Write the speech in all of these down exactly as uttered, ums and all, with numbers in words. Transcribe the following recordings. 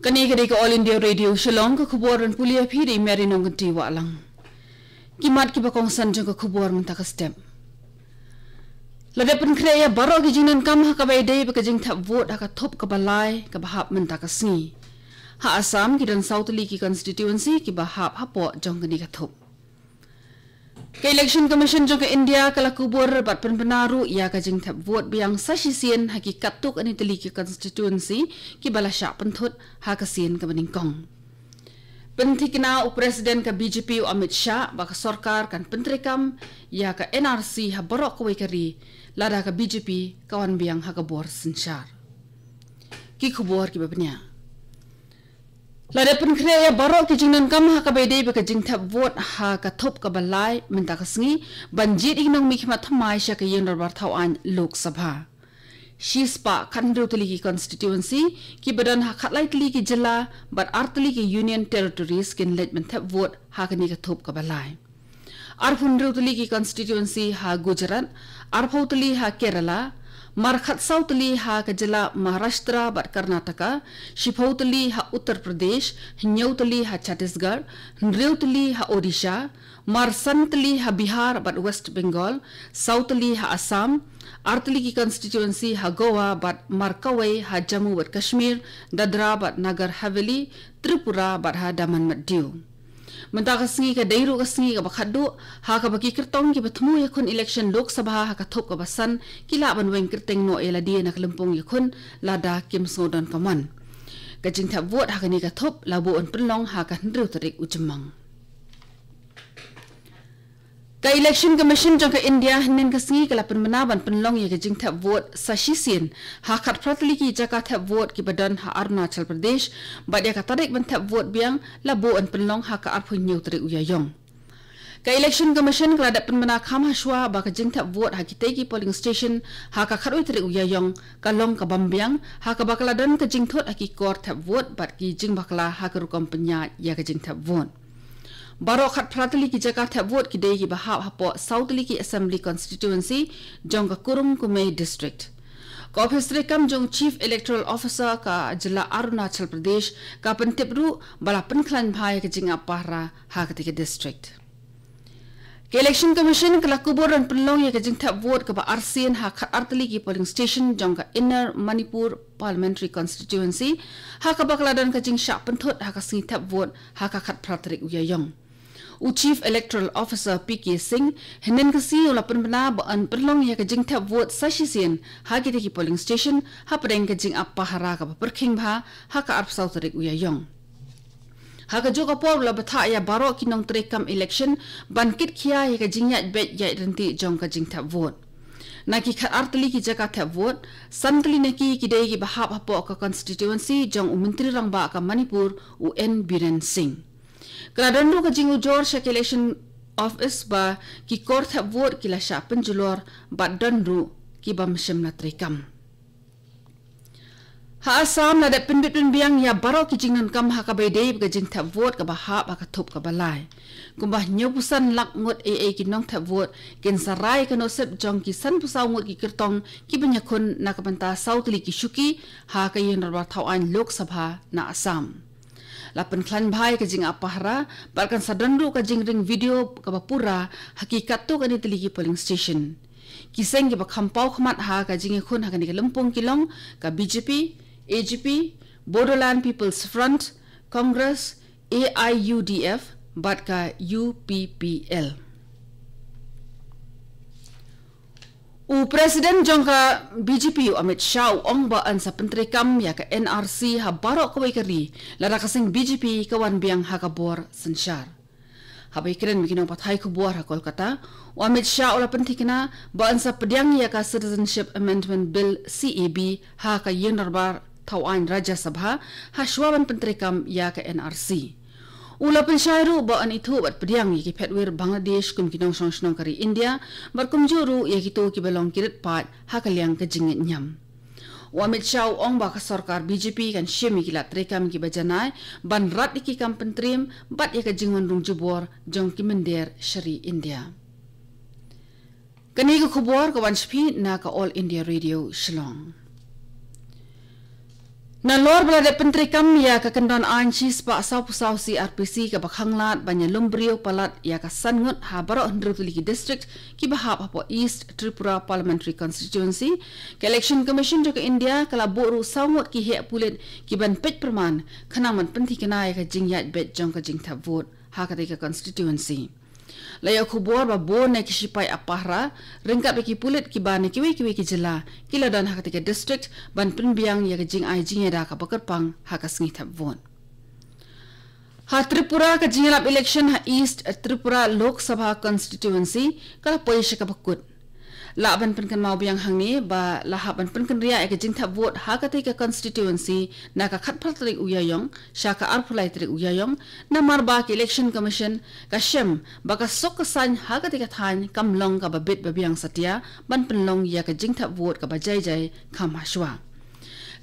Kane ka dei ka All India Radio Shillong, ka khubor ban pule ïa phi da i Mary Nongkynti Wahlang. Ki mat kiba kongsan jong ka khubor mynta ka step. La dep pynkhreh ïa baroh ki jingdonkam ha kaba ïadei bad ka jingthep vote ha ka thup kaba lai kaba hap mynta ka sngi. Ha Assam ki don saw tylli ki constituency kiba hap hapoh jong kane ka thup. Ka Election Commission jong ka India ka la kubur bad pynbna ruh ïa ka jingthep vote biang sa shisien ha ki katto katne tylli ki constituency kiba la shah pynthut ha ka sien kaba nyngkong. Pynthikna u President ka B J P u Amit Shah ba ka sorkar kan pyntreikam ïa ka N R C ha baroh kawei ka ri lada ka B J P ka wan biang ha ka bor synshar. Ki khubor kiba bniah. La dep pynkhreh ïa baroh ki jingdonkam ha kaba ïadei bad ka jingthep vote ha ka thup kaba lai mynta ka sngi ban jied ïa ki nongmihkhmat thymmai sha ka ïing dorbar thawaiñ Lok Sabha. Shispah khathynriew tylli ki constituency kiba don ha khatlai tylli ki jylla bad ar tylli ki Union Territories kin leit ban thep vote ha kane ka thup kaba lai. Arphew hynriew tylli ki constituency ha Gujarat, arphew tylli ha Kerala, mar khatsaw tylli ha ka jylla Maharashtra bad Karnataka, shiphew tylli ha Uttar Pradesh, hynñiew tylli ha Chhattisgarh, hynriew tylli ha Odisha, mar san tylli ha Bihar bad West Bengal, saw tylli ha Assam, ar tylli ki constituency ha Goa bad mar kawei ha Jammu bad Kashmir, Dadra bad Nagar Haveli, Tripura bad ha Daman bad Diu. Mynta ka sngi ka dei ruh ka sngi kaba khatduh ha kaba ki kyrtong kiba thmu ïakhun election Lok Sabha ha ka thup kaba san ki lah ban weng kyrteng noh ïa lade na ka lympung ïakhun lada kim sngewdon ka mon. Ka jingthep vote ha kane ka thup la buh ban pynlong ha ka hynriew tarik u Jymmang. Ka Election Commission jong ka India hynnin ka sngi ka la pynbna ban pynlong ïa ka jingthep vote sa shisien ha khatphra tylli ki jaka thep vote kiba don ha Arunachal Pradesh bad ïa ka tarik ban thep vote biang la buh ban pynlong ha ka arphew hynñiew tarik u Ïaïong. Ka Election Commission ka la dep pynbna kham hashwa ba ka jingthep vote ha kitei ki polling station ha ka khatwei tarik u Ïaïong ka long ka bym biang ha kaba ka la don ka jingthut ha ki kor thep vote bad ki jingbakla ha ka rukom pynïaid ïa ka jingthep vote. Baroh khatphra tylli ki jaka thep vote ki dei kiba hap hapoh saw tylli ki assembly constituency jong ka Kurung Kumey District. Ka ophis treikam jong Chief Electoral Officer ka jylla Arunachal Pradesh ka pyntip ruh ba la pynkhlaiñ bha ïa ka jingap pahara ha katei ka district. Ka Election Commission ka la kubur ban pynlong ïa ka jingthep vote kaba arsien ha khatar tylli ki polling station jong ka Inner Manipur Parliamentary Constituency ha kaba ka la don ka jingshah pynthut ha ka sngi thep vote ha ka khatphra tarik u Ïaïong. U Chief Electoral Officer P K Singh hynnin ka sngi u la pynbna ba yn pynlong ïa ka jingthep vote sa shisien ha kitei ki polling station hapdeng ka jingap pahara kaba pyrkhing bha ha ka arphew saw tarik u Ïaïong. Ha kajuh ka por u la bthah ïa baroh ki nongtreikam election ban kitkhia ïa ka jingïaid beit ïaid ryntih jong ka jingthep vote. Na ki khatar tylli ki jaka thep vote, san tylli na ki ki dei kiba hap hapoh ka constituency jong u Myntri Rangbah ka Manipur u N Biren Singh. Ka la don ruh ka jingujor sha ka Election Office ba ki kor thep vote ki la shah pynjulor bad don ruh ki bym shym la treikam. Ha Assam la dep pynbit pynbiang ïa baroh ki jingdonkam ha kaba ïadei bad ka jingthep vote kaba hap ha ka thup kaba lai. Kumba hynñiewphew san lak ngut eiei ki nongthep vote kin sa rai ka nusip jong ki sanphew saw ngut ki kyrtong kiban ïakhun na ka bynta saw tylli ki shuki ha ka ïing dorbar thawaiñ Lok Sabha na Assam. La pynkhlaiñ bha ïa ka jingap pahara bad kan sa don ruh ka jingring video kaba pura ha ki katto katne tylli ki polling station. Ki seng kiba kham paw khmat ha ka jingïakhun ha kane ka lympung ki long ka B J P, A G P, Bodoland People's Front, Congress, A I U D F bad ka U P P L. U President jong ka B J P u Amit Shah u ong ba yn sa pyntreikam ïa ka N R C ha baroh kawei ka ri lada ka seng B J P ka wan biang ha ka bor synshar. Haba ïakren bad ki nongpathai khubor ha Kolkata, u Amit Shah u la pynthikna ba yn sa pdiang ïa ka Citizenship Amendment Bill, C A B, ha ka ïing dorbar thawaiñ Rajya Sabha hashwa ban pyntreikam ïa ka N R C. U la pynshai ruh ba yn ithuh bad pdiang ïa ki phetwir Bangladesh kum ki nongshong shnong ka ri India bad kumjuh ruh ïa kito kiba long ki rit paid ha ka liang ka jingngeit niam. U Amit Shah u ong ba ka sorkar B J P kan shim ïa ki lad treikam kiba janai ban rat ïa ki kam pyntriem bad ïa ka jingwan rung jubor jong ki mynder sha ri India. Kane ka khubor ka wan sha phi na ka All India Radio Shillong. Nalor ba la dep pyntreikam ïa ka kyndon aiñ shispah sawphew saw C R P C kaba khanglad ban ïalum briew palat ïa ka san ngut ha baroh hynriew tylli ki district kiba hap hapoh East Tripura Parliamentary Constituency, ka Election Commission jong ka India ka la buh ruh saw ngut ki heh pulit ki ban peit pyrman khnang ban pynthikna ïa ka jingïaid beit jong ka jingthep vote ha katei ka constituency. La ïoh khubor ba bun na ki shipai ap pahara ryngkat bad ki pulit kiba na kiwei kiwei ki jylla ki la don ha katei ka district ban pynbiang ïa ka jingai jingïada kaba kyrpang ha ka sngi thep vote. Ha Tripura, ka jingïalap election ha East Tripura Lok Sabha Constituency ka la poi sha kaba kut. Lah ban pynkynmaw biang hangne ba la hap ban pynkynriah ïa ka jingthep vote ha katei ka constituency na ka khatphra tarik u Ïaïong sha ka arphew lai tarik u Ïaïong, namar ba ka Election Commission ka shem ba ka suk ka saiñ ha katei ka thaiñ kam long kaba bit ba biang satia ban pynlong ïa ka jingthep vote kaba jai jai kham hashwa.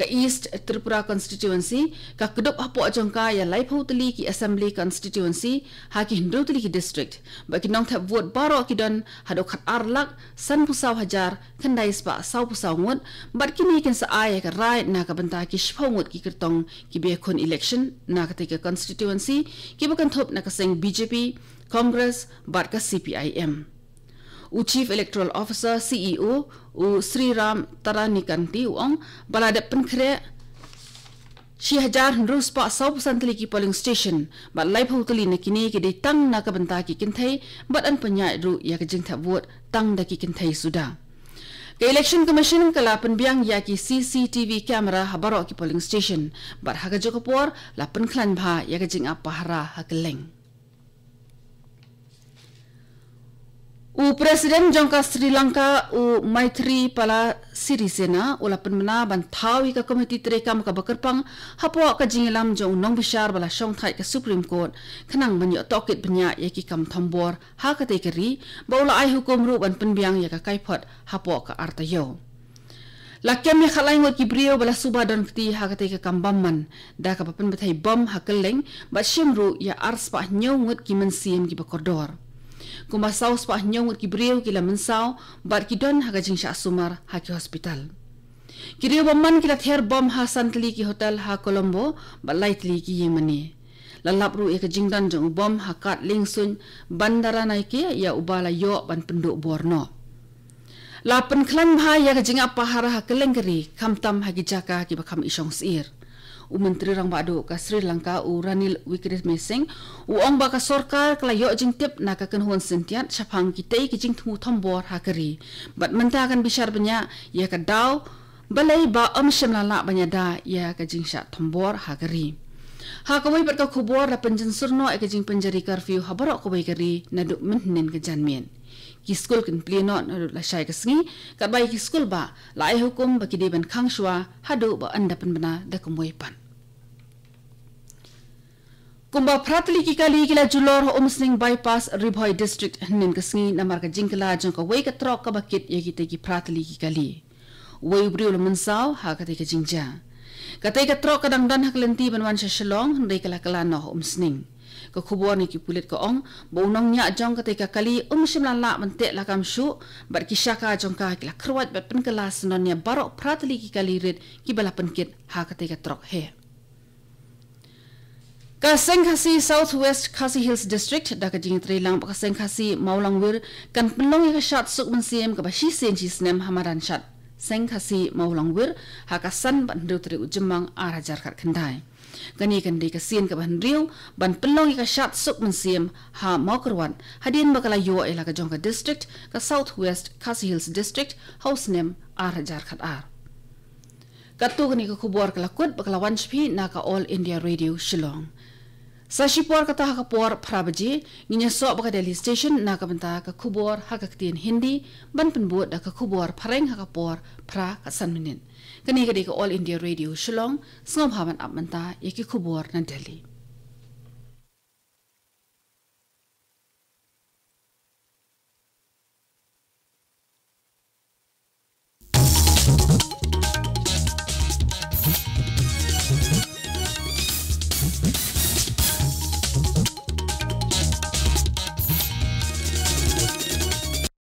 Ka East Tripura Constituency ka kdup hapoh jong ka ïa laiphew tylli ki Assembly Constituency ha ki hynriew tylli ki district, bad ki nongthep vote baroh ki don haduh khatar lak sanphew saw hajar khyndai spah sawphew saw ngut, bad kine kin sa ai ïa ka rai na ka bynta ki shiphew ngut ki kyrtong kiba ïakhun election na katei ka constituency, kiba kynthup na ka seng B J P, Congress bad ka C P I M. U Chief Electoral Officer, C E O, u Sriram Taranikanti u ong ba la dep pynkhreh shi hajar hynriew spah sawphew san tylli ki polling station, bad laiphew tylli na kine ki dei tang na ka bynta ki kynthei, bad yn pynïaid ruh ïa ka jingthep vote tang da ki kynthei suda. Ka Election Commission ka la pynbiang ïa ki C C T V camera ha baroh ki polling station, bad ha kajuh ka por la pynkhlaiñ bha ïa ka jingap pahara ha kylleng. U President jong ka Sri Lanka, u Maithripala Sirisena, u la pynbna ban thaw ïa ka komiti treikam kaba kyrpang hapoh ka jingïalam jong u nongbishar ba la shongthait ka Supreme Court, khnang ban ïoh tohkit bniah ïa ki kam thombor ha katei ka ri, bad u la ai hukum ruh ban pynbiang ïa ka kaiphod hapoh ka ar taïew. La kem ïa khatlai ngut ki briew ba la suba don kti ha katei ka kam bymman, da kaba pynbthei bom ha kylleng, bad shim ruh ïa arspah hynñiew ngut ki mynsiem kiba kordor. Kumba sawspah hynñiew ngut ki briew ki la mynsaw, bad ki don ha ka jingshah sumar ha ki hospital. Ki riew bymman ki la ther bom ha san tylli ki hotel ha Colombo, bad lai tylli ki ïingmane. La lap ruh ïa ka jingdon jong u bom ha kad liengsuiñ Bandaranaike, ïa uba la ïoh ban pynduh bor noh. La pynkhlaiñ bha ïa ka jingap pahara ha kylleng ka ri, khamtam ha ki jaka kiba kham i shong syier. U Myntri Rangbah Duh ka Sri Lanka, u Ranil Wickremesinghe, u ong ba ka sorkar ka la ïoh jingtip na ka kynhun syntiat shaphang kitei ki jingthmu thombor ha ka ri, bad mynta kan bishar bniah ïa ka daw, balei ba ym shym la lah ban ïada ïa ka jingshah thombor ha ka ri. Ha kawei pat ka khubor, la pynjynsur noh ïa ka jingpynjari curfew ha baroh kawei ka ri naduh mynhynnin ka janmiet. Ki skul kin plie noh naduh lashai ka sngi, katba ïa ki skul bah la ai hukum ba ki dei ban khang shuwa haduh ba yn da pynbna da kumwei pat. Kumba phra tylli ki kali ki la julor ha Umsning Bypass, Ri Bhoi District, hynnin ka sngi namar ka jingkylla jong kawei ka trok kaba kit ïa kitei ki phra tylli ki kali. Uwei u briew u la mynsaw ha katei ka jingjia. Katei ka trok ka dang don ha ka lynti ban wan sha Shillong, hynrei ka la kylla noh ha Umsning. Ka khubor na ki pulit ka ong ba u nongñiah jong katei ka kali um shym la lah ban teh lakam shuh, bad ki shaka jong ka ki la kyrwat bad pynkylla syndon ïa baroh phra tylli ki kali rit kiba la pynkit ha katei ka trok heh. Ka Seng Khasi South West Khasi Hills District, da ka jingïatreilang bad ka Seng Khasi Mawlangwir, kan pynlong ïa ka shad suk mynsiem kaba shisien shisnem ha madan shad Seng Khasi Mawlangwir ha ka san bad hynriew tarik u Jymmang ar hajar khatkhyndai. Kane kan dei ka sien kaba hynriew ban pynlong ïa ka shad suk mynsiem ha Mawkyrwat, hadien ba ka la ïoh ïa la ka jong ka district, ka South West Khasi Hills District, ha u snem ar hajar khatar. Katto katne ka khubor ka la kut bad ka la wan sha phi na ka All India Radio Shillong. Sa shipor kata ha ka por phra baje, ngin ïasoh bad ka Delhi Station na ka bynta ka khubor ha ka ktien Hindi, ban pynbud da ka khubor phareng ha ka por phra ka san minit. Kane ka dei ka All India Radio Shillong, sngewbha ban ap mynta ïa ki khubor na Delhi.